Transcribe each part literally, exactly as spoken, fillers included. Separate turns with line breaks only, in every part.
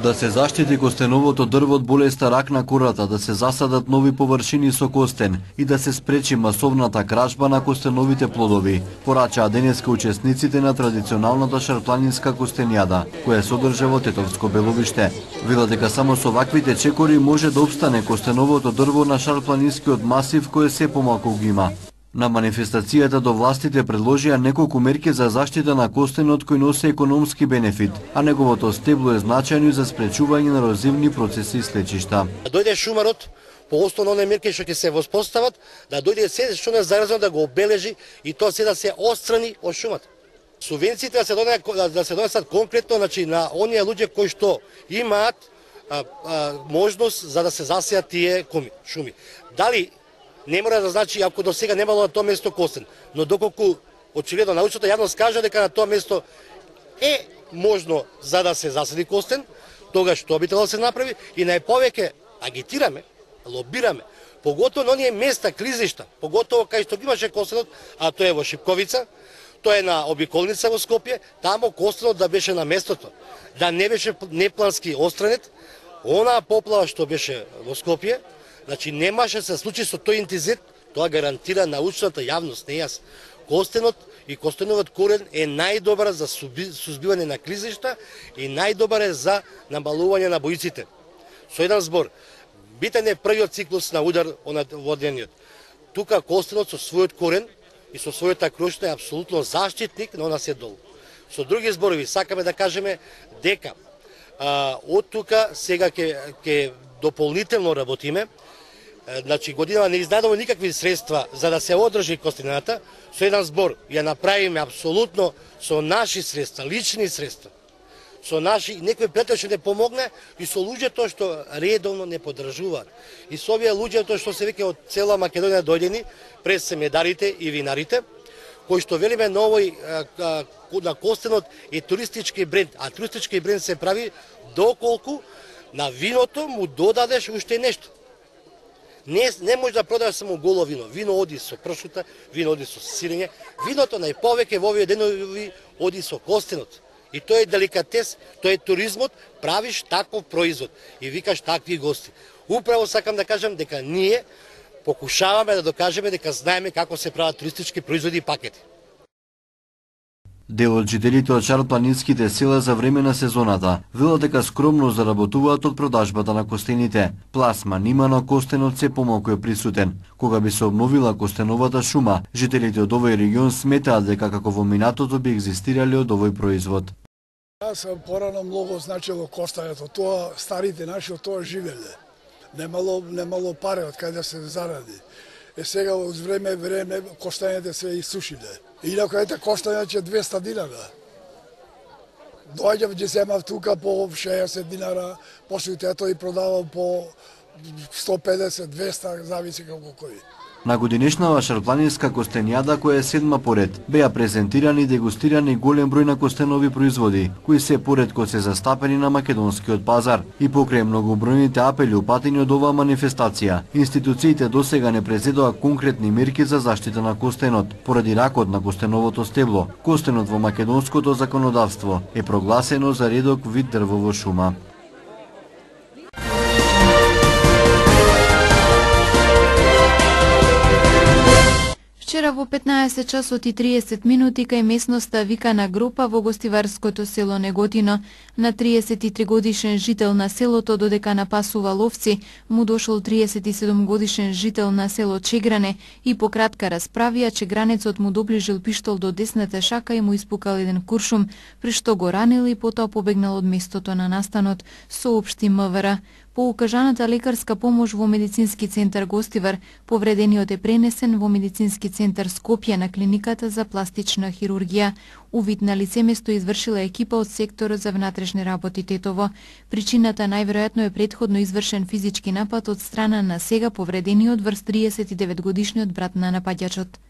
Да се заштити костеновото дрво од болеста рак на кората, да се засадат нови површини со костен и да се спречи масовната кражба на костеновите плодови, порачаа денеска учесниците на традиционалната шарпланинска костенјада, која се одржа во Тетовско Беловиште. Велат дека само со ваквите чекори може да обстане костеновото дрво на шарпланинскиот масив кој се помалку ги има. На манифестацијата до властите предложија неколку мерки за заштита на костенот кој носи економски бенефит, а неговото стебло е значајно за спречување на ерозивни процеси и слечишта.
Дојде шумарот по основно оние мерки што ќе се воспостават, да дојде се што не заразно да го обележи и тоа се да се отстрани од шумата. Субвенциите да се донесат да се донесат конкретно, значи на оние луѓе кои што имаат а, а, можност за да се засеат тие шуми. Дали не мора да значи ако до сега немало на тоа место костен, но доколку очигледно научната јавност кажа дека на тоа место е можно за да се засади костен, тогаш што би требало да се направи и најповеќе агитираме, лобираме, поготово на оние места, клизишта, поготово кај што имаше костенот, а тоа е во Шипковица, тоа е на обиколница во Скопје, тамо костенот да беше на местото, да не беше неплански отстранет, онаа поплава што беше во Скопје. Значи немаше се случи со тој интензитет, тоа гарантира научната јавност, не јас. Костенот и костеновиот корен е најдобар за сузбивање на клизишта и најдобар е за намалување на боиците. Со еден збор, битен е првиот циклус на удар во денот. Тука костенот со својот корен и со својата крошна е апсолутно заштитник на она се долу. Со други зборови, сакаме да кажеме дека а, од тука сега ќе ќе дополнително работиме. Значи годинава не изнадоме никакви средства за да се одржи костената, со еден збор ја направиме апсолутно со наши средства, лични средства. Со наши некој пријател што не помогне и со луѓето што редовно не поддржуваат. И со овие луѓето што се веќе од цела Македонија дојдени, пред семедарите и винарите, кои што велиме на овој на костенот е туристички бренд, а туристички бренд се прави доколку на виното му додадеш уште нешто. Не, не може да продаваш само голо вино. Вино оди со пршута, вино оди со сирење. Виното најповеќе во овие денови оди со костенот. И тоа е деликатес, тоа е туризмот, правиш таков производ и викаш такви гости. Управо сакам да кажам дека ние покушаваме да докажеме дека знаеме како се прават туристички производи и пакети.
Дел од жителите од шарпланинските села за време на сезоната велат дека скромно заработуваат од продажбата на костените. Пласма нима на костенот се помалку е присутен. Кога би се обновила костеновата шума, жителите од овој регион сметаат дека како во минатото би екзистирале од овој производ.
Јас порано многу значило костењето, тоа старите наши од тоа живеле. Немало немало пари од каде да се заради. Е сега од време време костењата се исушиле. Инако ете коштање че двеста динара. Доаѓав ќе земав тука по шеесет динара, после тоа и продавам по сто педесет двеста, зависи како кој.
На годинешнава шарпланинска костенјада, која е седма поред, беа презентирани и дегустирани голем број на костенови производи, кои се поредко се застапени на македонскиот пазар. И покрај многобројните апели упатени од оваа манифестација, институциите досега не презедоа конкретни мерки за заштита на костенот, поради ракот на костеновото стебло. Костенот во македонското законодавство е прогласено за редок вид дрвово шума.
Вчера во петнаесет часот и триесет минути кај местноста Викана Гропа во гостиварското село Неготино, на триесет и три годишен жител на селото додека напасува ловци, му дошол триесет и седум годишен жител на село Чегране и по кратка расправија чегранецот му доближил пиштол до десната шака и му испукал еден куршум, при што го ранил и потоа побегнал од местото на настанот, соопшти МВР. По укажаната лекарска помош во медицински центар Гостивар, повредениот е пренесен во медицински центар Скопје на клиниката за пластична хирургија. Увид на лицеместо извршила екипа од секторот за внатрешни работи Тетово. Причината најверојатно е претходно извршен физички напад од страна на сега повредениот врз триесет и девет годишниот брат на напаѓачот.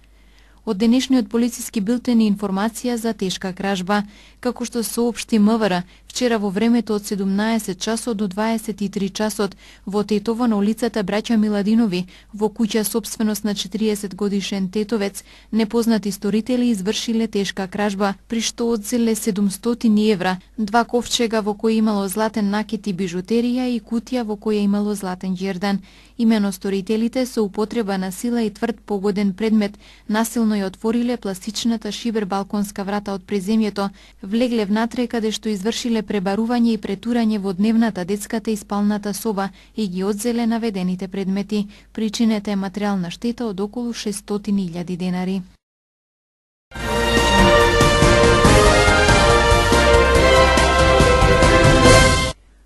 Од денешниот полициски билтен и информација за тешка кражба. Како што соопшти МВР, вчера во времето од седумнаесет часот до дваесет и три часот во Тетово на улицата Браќа Миладинови, во куќа собственост на четириесет годишен тетовец, непознати сторители извршиле тешка кражба, при што одзеле седумстотини евра, два ковчега во кои имало златен накит и бижутерија и кутија во која имало златен џердан. Имено сторителите со употреба на сила и тврд погоден предмет насилно ја отвориле пластичната шибер балконска врата од преземјето, влегле внатре каде што извршиле пребарување и претурање во дневната, детската и спалната соба и ги одзеле наведените предмети. Причинета е материјална штета од околу шестстотини илјади денари.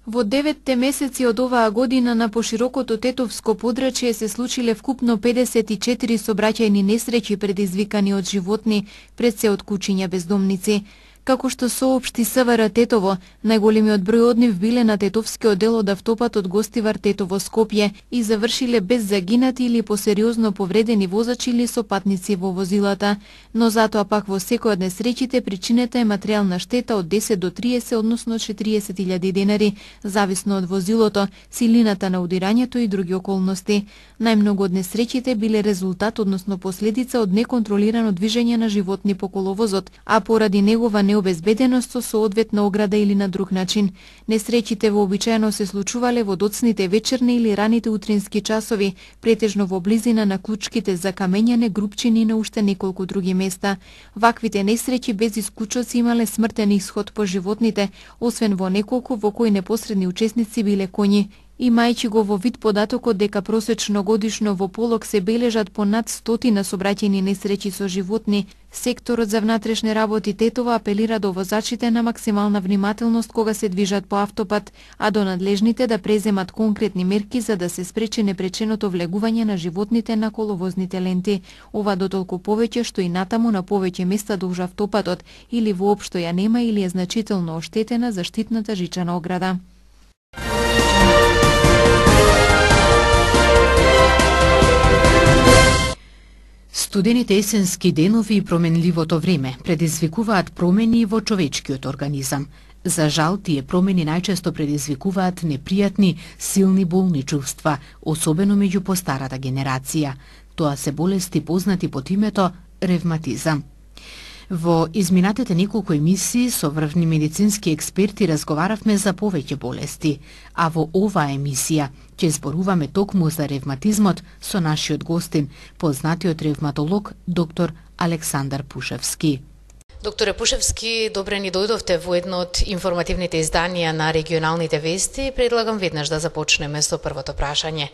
Во деветте месеци од оваа година на поширокото тетовско подрачје се случиле вкупно педесет и четири сообраќајни несреќи предизвикани од животни, пред се од кучиња бездомници. Како што соопшти СВР Тетово, најголемиот број од нив биле на тетовскиот дел од автопатот Гостивар Тетово Скопје и завршиле без загинати или посериозно повредени возачи или со патници во возилата, но затоа пак во секој од несреќите причинета е материјална штета од десет до триесет, односно четириесет илјади денари, зависно од возилото, силината на удирањето и други околности. Најмногу од несреќите биле резултат, односно последица од неконтролирано движење на животни по коловозот, а поради негова необезбеденост со соодветна ограда или на друг начин. Несреќите вообичаено се случувале во доцните вечерни или раните утрински часови, претежно во близина на клучките за камењане, групчини и на уште неколку други места. Ваквите несреќи без исклучоци имале смртен исход по животните, освен во неколку во кои непосредни учесници биле коњи. Имајќи го во вид податокот дека просечно годишно во Полог се бележат по над стотина сообраќајни несреќи со животни, секторот за внатрешни работи Тетово апелира до возачите на максимална внимателност кога се движат по автопат, а до надлежните да преземат конкретни мерки за да се спречи непреченото влегување на животните на коловозните ленти. Ова дотолку повеќе што и натаму на повеќе места дуж автопатот или воопшто ја нема или е значително оштетена заштитната жичана ограда.
Студените есенски денови и променливото време предизвикуваат промени во човечкиот организам. За жал, тие промени најчесто предизвикуваат непријатни, силни болни чувства, особено меѓу постарата генерација. Тоа се болести познати под името ревматизам. Во изминатите неколку емисии со врвни медицински експерти разговаравме за повеќе болести, а во оваа емисија ќе зборуваме токму за ревматизмот со нашиот гостин, познатиот ревматолог доктор Александар Пушевски.
Докторе Пушевски, добре ни дојдовте во едно од информативните изданија на регионалните вести. Предлагам веднаш да започнеме со првото прашање.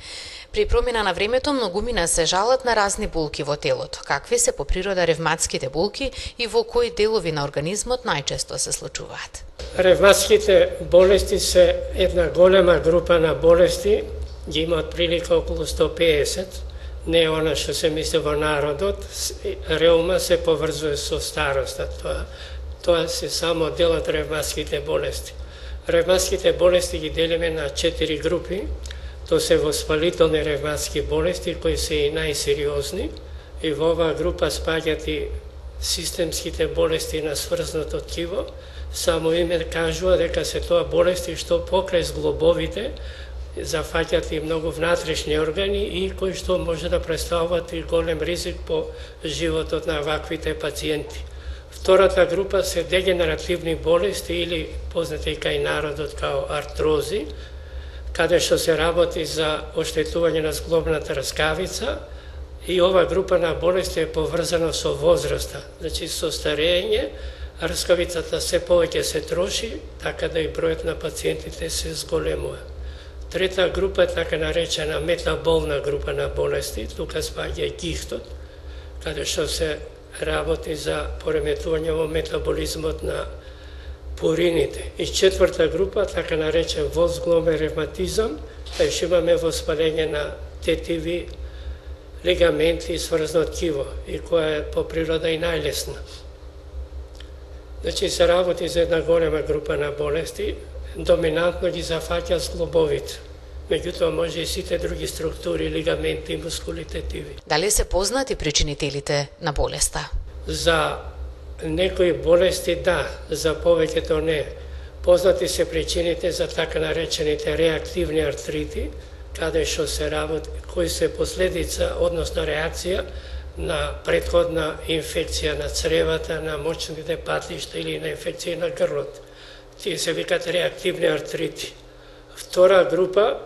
При промена на времето многумина се жалат на разни болки во телото. Какви се по природа ревматските болки и во кои делови на организмот најчесто се случуваат?
Ревматските болести се една голема група на болести, ги има отприлика околу сто педесет. Не е она што се мисли во народот, реума се поврзува со староста. Тоа, тоа се само дел од ревматските болести. Ревматските болести ги делиме на четири групи. Тоа се воспалителни ревматски болести, кои се и најсериозни. И во оваа група спаѓаат и системските болести на сврзното ткиво. Само име кажува дека се тоа болести што покрај зглобовите зафаќаат и многу внатрешни органи и кои што може да представуваат и голем ризик по животот на ваквите пациенти. Втората група се дегенеративни болести или познати кај народот као артрози, каде што се работи за оштетување на зглобната раскавица и ова група на болести е поврзана со возраста, значи со старење, раскавицата се повеќе се троши, така да и бројот на пациентите се зголемува. Трета група е така наречена метаболна група на болести, тука спаѓа и гихтот, каде што се работи за пореметување во метаболизмот на пурините. И четврта група, така наречен возгломен ревматизам, кај што имаме воспаление на тетиви, лигаменти и сврзно ткиво, и која е по природа и најлесна. Значи се работи за една голема група на болести, доминантно ги зафаќа зглобовите. Меѓутоа може и сите други структури, лигаменти и мускули тетиви.
Дали се познати причинителите на болеста?
За некои болести да, за повеќето не. Познати се причините за така наречените реактивни артрити, каде што се работи, кои се последица, односно реакција на претходна инфекција на цревата, на мочните патишта или на инфекција на грлот. Тие се викат реактивни артрити. Втора група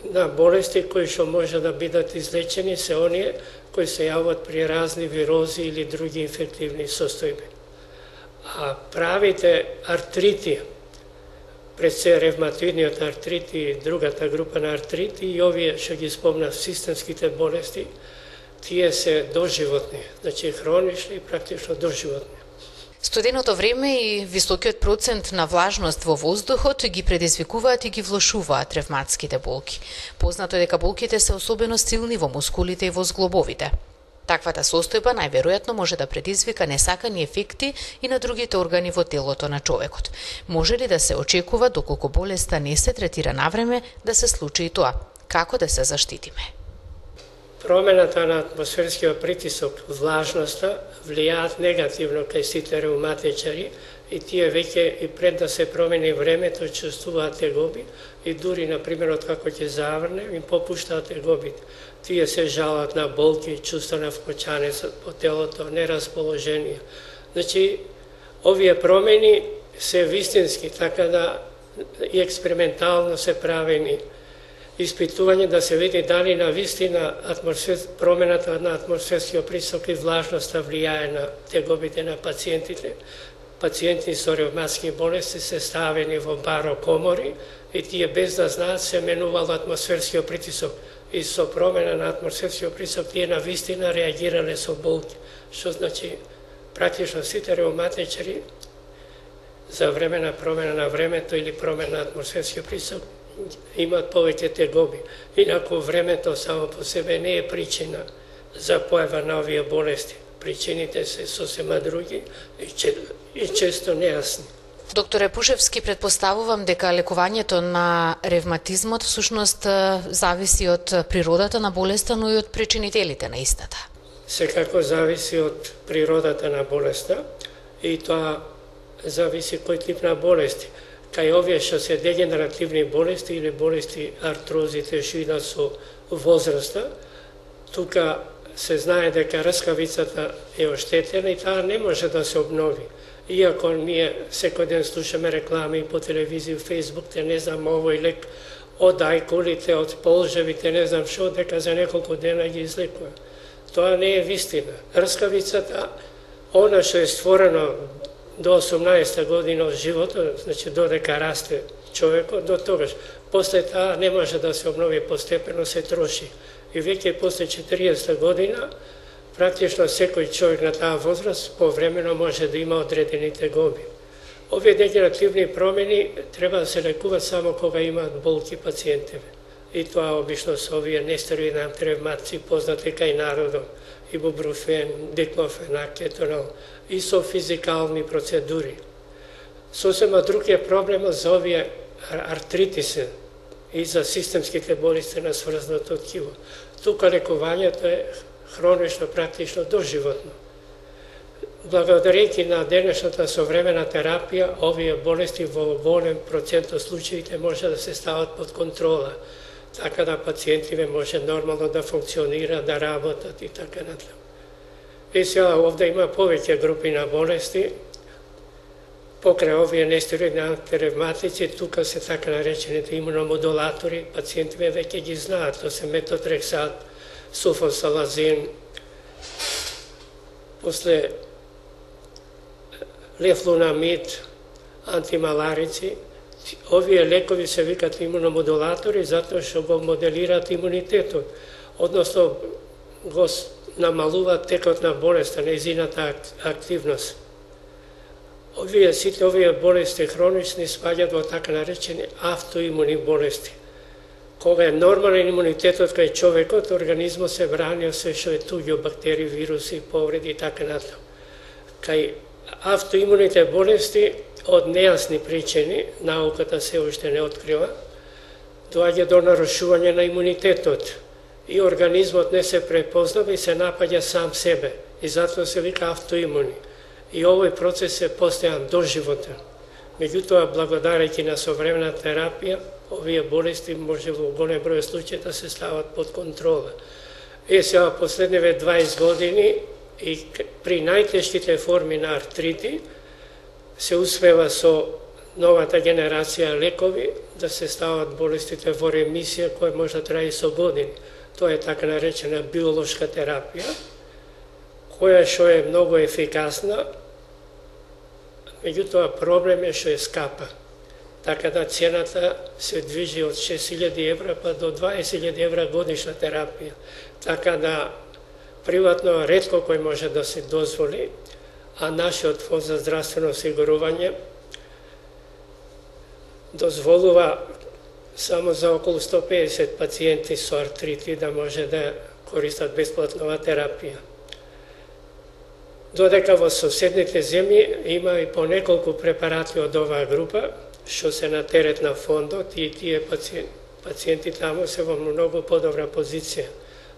на болести кои што може да бидат излечени се оние кои се јават при разни вирози или други инфективни состојби. А правите артрити, пред се ревматоидниот артрит и другата група на артрити и овие што ги спомнав системските болести, тие се доживотни, значи хронични и практично доживотни.
Студеното време и високиот процент на влажност во воздухот ги предизвикуваат и ги влошуваат ревматските болки. Познато е дека болките се особено силни во мускулите и во зглобовите. Таквата состојба најверојатно може да предизвика несакани ефекти и на другите органи во телото на човекот. Може ли да се очекува, доколку болеста не се третира навреме, да се случи и тоа? Како да се заштитиме?
Промената на атмосферскиот притисок, влажноста, влијаат негативно кај сите реуматичари и тие веќе и пред да се промени времето чувствуваат тегоби и дури, например, откако ќе заврне, им попуштаат тегобите. Тие се жалат на болки, чувство на вкочане по телото, нерасположение. Значи, овие промени се вистински, така да и експериментално се правени испитување да се види дали на вистина атмосфер... промената на атмосферскиот притисок и влажноста влијае на тегобите на пациентите. Пациенти со ревматски болести се ставени во барокомори и тие без да знаат се менувал атмосферскиот притисок и со промена на атмосферскиот притисок тие на вистина реагирале со болки. Што значи практично сите ревматичари за време на промена на времето или промена на атмосферскиот притисок имат повеќе тегоби. Инаку времето само по себе не е причина за појава на овие болести. Причините се сосема други и често нејасни.
Докторе Пушевски, предпоставувам дека лекувањето на ревматизмот всушност зависи од природата на болеста, но и од причинителите на истата.
Секако зависи од природата на болеста и тоа зависи кој тип на болести. Кај овие што се дегенеративни болести или болести артрозите што идат со возраста, тука се знае дека рскавицата е оштетена и таа не може да се обнови. Иако ние секој ден слушаме реклами по телевизија, Фейсбук, те не знам овој лек од ајкулите, од полжевите, не знам што, дека за неколку дена ги излекува. Тоа не е вистина. Рскавицата, она што е створено до осумнаесета година од животот, значи додека расте човекот, до тогаш. После таа не може да се обнови, постепено се троши. И веќе после четириесета година, практично секој човек на таа возраст повремено може да има одредени тегоби. Овие дегенеративни промени треба да се лекуваат само кога имаат болки пациентиве. И тоа обично со овие нестероидни антиревматици, познати кај народот, ибупрофен, диклофен, кетонол, и со физикални процедури. Сосема друг е проблемот за овие артритиси и за системските болести на сврзното ткиво. Тука лекувањето е хронично, практично доживотно. Благодарејќи на денешната современа терапија, овие болести во голем процент од случаите може да се стават под контрола, така да пациентиве може нормално да функционира, да работат и така натаму. И сега овде има повеќе групи на болести, покрај овие нестероидни антиревматици, тука се така наречените имуномодулатори, пациентиве веќе ги знаат, тоа се метотрексат, суфосалазин, после лефлунамид, антималарици. Овие лекови се викат имуномодулатори затоа што го моделираат имунитетот, односно го намалуваат текот на болеста, нејзината активност. Овие сите овие болести хронични спаѓаат во така наречени автоимуни болести. Кога е нормален имунитетот кај човекот, организмот се брани од се што е туѓо, бактерии, вируси, повреди и така натаму. Кај автоимуните болести од нејасни причини, науката се уште не открива, доаѓа до нарушување на имунитетот и организмот не се препознава и се напаѓа сам себе и затоа се вика автоимуни. И овој процес е постојан доживотен. Меѓутоа, благодарејќи на современа терапија, овие болести може во голем број случаи да се стават под контрола. Е, сега последниве дваесет години и при најтешките форми на артрити се успева со новата генерација лекови да се стават болестите во ремисија која може да трае со години. Тоа е така наречена биолошка терапија, која што е многу ефикасна, меѓутоа проблем е што е скапа. Така да цената се движи од шест илјади евра па до дваесет илјади евра годишна терапија. Така да приватно ретко кој може да се дозволи, а нашиот фонд за здравствено осигурување дозволува само за околу сто педесет пациенти со артрити да може да користат бесплатно оваа терапија. Додека во соседните земји има и по неколку препарати од оваа група, што се на терет на фондот и тие пациенти, пациенти таму се во многу подобра позиција.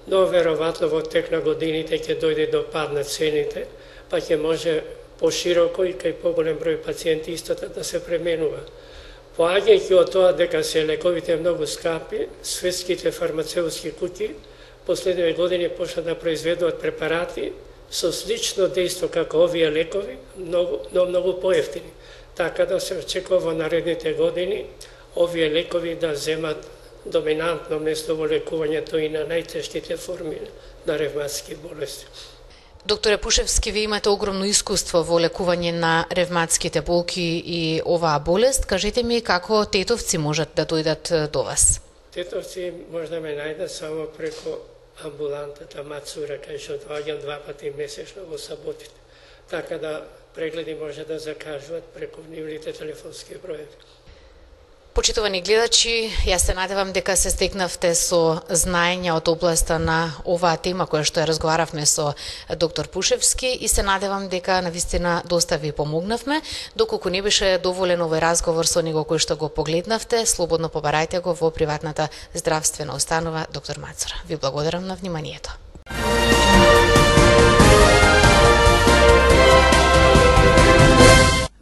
Но веројатно во тек на годините ќе дојде до пад на цените, па ќе може пошироко и кај поголем број пациенти истото да се пременува. Поаѓајќи од тоа дека се лековите многу скапи, светските фармацеутски куќи последниве години почна да произведуваат препарати со слично дејство како овие лекови, многу, но многу поевтини. Така да се очекува во наредните години овие лекови да земат доминантно место во лекувањето и на најтешките форми на ревматски болести.
Докторе Пушевски, ви имате огромно искуство во лекување на ревматските болки и оваа болест. Кажете ми како тетовци можат да дојдат до вас?
Тетовци може да ме најдат само преко амбулантата Мацура, кај што доаѓам два пати месечно во саботите. Така да прегледи може да закажуват преку нивните телефонски броеви.
Почитувани гледачи, јас се надевам дека се стекнавте со знаења од областа на оваа тема која што ја разговаравме со доктор Пушевски и се надевам дека навистина доста ви помогнавме. Доколку не беше доволен овој разговор со него кој што го погледнавте, слободно побарајте го во приватната здравствена установа доктор Мацура. Ви благодарам на вниманието.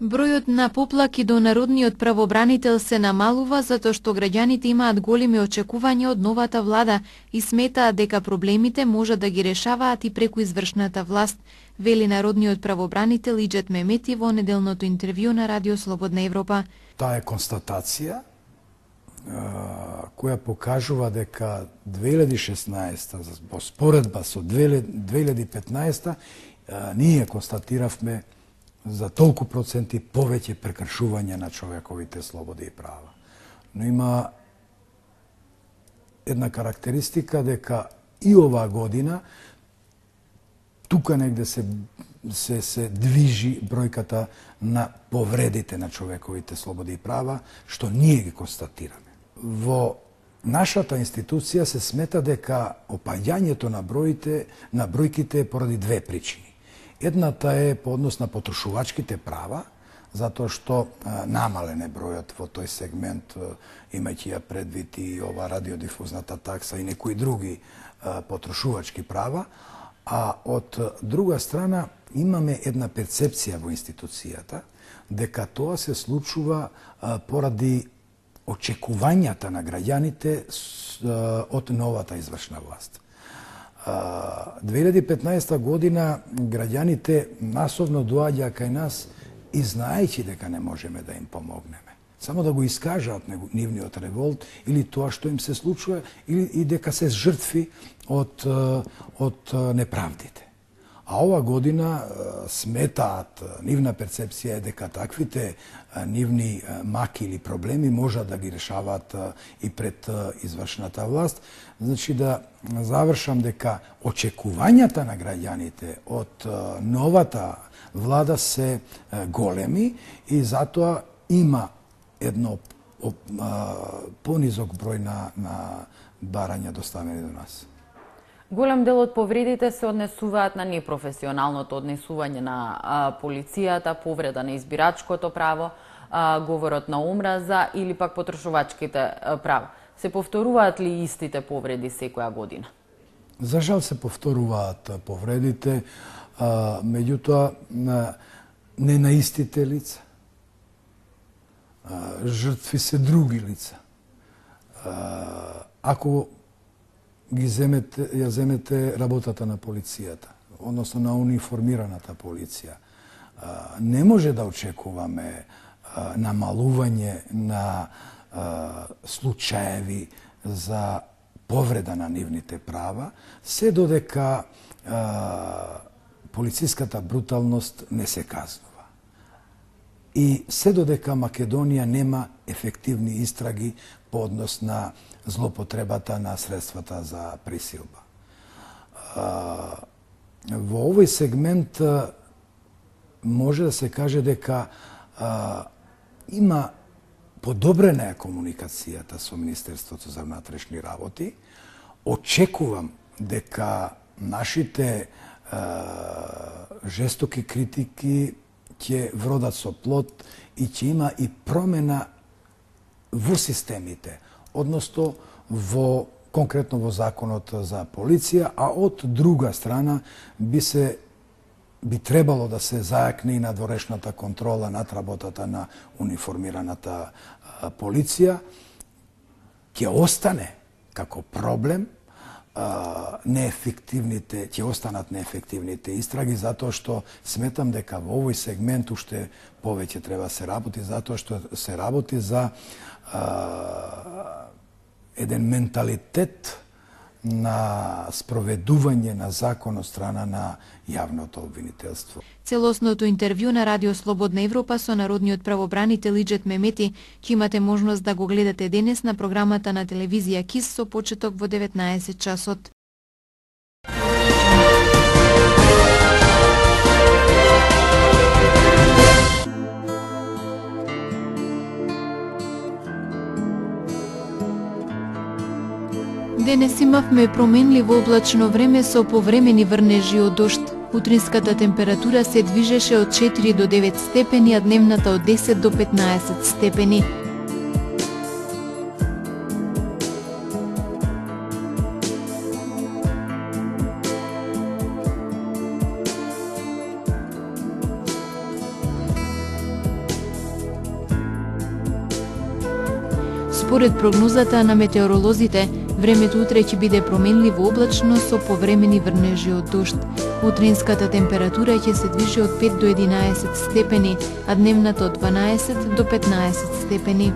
Бројот на поплаки до народниот правобранител се намалува затоа што граѓаните имаат големи очекувања од новата влада и сметаат дека проблемите можат да ги решаваат и преку извршната власт, вели народниот правобранител Иџет Мемети во неделното интервју на Радио Слободна Европа.
Таа е констатација која покажува дека две илјади и шеснаесета во споредба со две илјади и петнаесета ние констатиравме за толку проценти повеќе прекршување на човековите слободи и права. Но има една карактеристика дека и оваа година тука негде се се се движи бројката на повредите на човековите слободи и права, што ние ги констатираме. Во нашата институција се смета дека опаѓањето на броите на бројките е поради две причини. Едната е по однос на потрошувачките права, затоа што а, намален е бројот во тој сегмент, имајќи ја предвид и ова радиодифузната такса и некои други а, потрошувачки права, а од друга страна имаме една перцепција во институцијата дека тоа се случува а, поради очекувањата на граѓаните с, а, од новата извршна власт. две илјади и петнаесета година граѓаните масовно доаѓаа кај нас и знаејќи дека не можеме да им помогнеме. Само да го искажаат нивниот револт или тоа што им се случува или и дека се жртви од, од неправдите. А ова година сметаат, нивна перцепција е дека таквите нивни маки или проблеми можат да ги решаваат и пред извршната власт. Значи да завршам дека очекувањата на граѓаните од новата влада се големи и затоа има едно понизок број на, на барања доставени до нас.
Голем дел од повредите се однесуваат на непрофесионалното однесување на а, полицијата, повреда на избирачкото право, а, говорот на омраза или пак потрошувачките а, права. Се повторуваат ли истите повреди секоја година?
За жал се повторуваат повредите, а, меѓутоа не на истите лица. жртви се други лица. Ако ги земете, ја земете работата на полицијата, односно на униформираната полиција, не може да очекуваме намалување на случаеви за повреда на нивните права, се додека полициската бруталност не се казнува. И се додека Македонија нема ефективни истраги по однос на злопотребата на средствата за присилба. Во овој сегмент може да се каже дека има подобрена е комуникацијата со Министерството за внатрешни работи. Очекувам дека нашите жестоки критики ќе вродат со плод и ќе има и промена во системите, односно во конкретно во законот за полиција, а од друга страна би се би требало да се зајакне и надворешната контрола над работата на униформираната полиција. Ќе остане како проблем неефективните, ќе останат неефективните истраги, затоа што сметам дека во овој сегмент уште повеќе треба да се работи, затоа што се работи за а, еден менталитет на спроведување на закон од страна на јавното обвинителство.
Целосното интервју на Радио Слободна Европа со народниот правобранител Иџет Мемети ќе имате можност да го гледате денес на програмата на телевизија КИС со почеток во деветнаесет часот. Денес имавме променливо облачно време со повремени врнежи од дожд. Утринската температура се движеше од четири до девет степени, а дневната од десет до петнаесет степени. Според прогнозата на метеоролозите, времето утре ќе биде променливо облачно со повремени врнежи од дожд. Утринската температура ќе се движи од пет до единаесет степени, а дневната од дванаесет до петнаесет степени.